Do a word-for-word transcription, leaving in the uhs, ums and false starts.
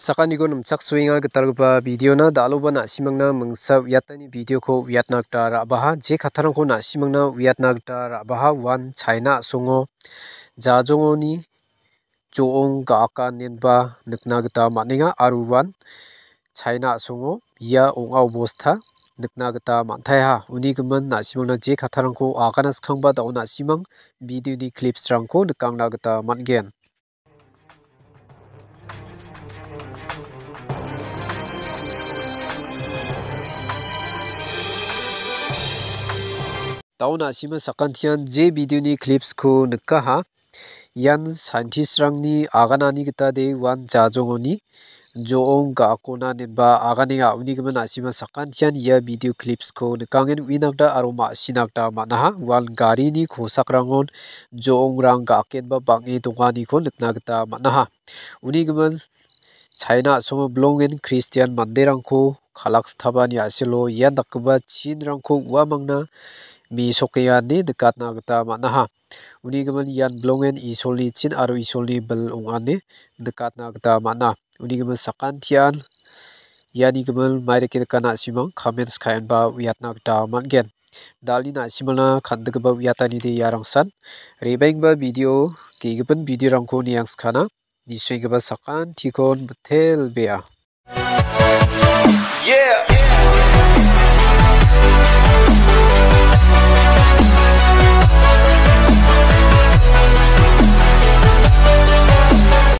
Sakaniko nimchaksoenga gitalgipa videona, dal·oba na·simangna mingsa uiatani videoko uiatna gita ra·baha. Je kattarangko na·simangna uiatna gita ra·baha. Uan China a·songo jajongoni jo·ong ga·akanenba nikna gita man·enga aro uan China a·songo ia ong·a obosta nikna gita man·taiha. Uni gimin na·simangna je kattarangko agana skangba da·o na·simang videoni clipsrangko nikangna gita man·gen. Da·o na·sima sakantian je videoni clipsko nikaha. Ian scientistrangni aganani gita de uan jajongoni jo·ong ga·akona nemba aganenga. Uni gimin na·sima sakantian ia video clipsko nikangen uina gita aro ma·sina gita man·aha. Uan garini kosakrangon jo·ongrang ga·akenba bang·e donganiko nikna gita man·aha. Uni gimin China a·songo bilongen Kristian manderangko kalakstapani a·selo ian dakgipa chinrangko uamangna mesokenga ine nikatna gita man·aha. Uni gimin ian bilongen Isolni chin aro Isolni bil ong·a ine nikatna gita man·a. Uni gimin sakantian iani gimin mairike nikana a·simang comments ka·enba uiatna gita man·gen. Dal·ni na·simangna kan·gipa uiatanide iarangsan re·baenggipa video, ge·gipin videorangko niangskana. Nisoenggipa sakantikon bitelbea.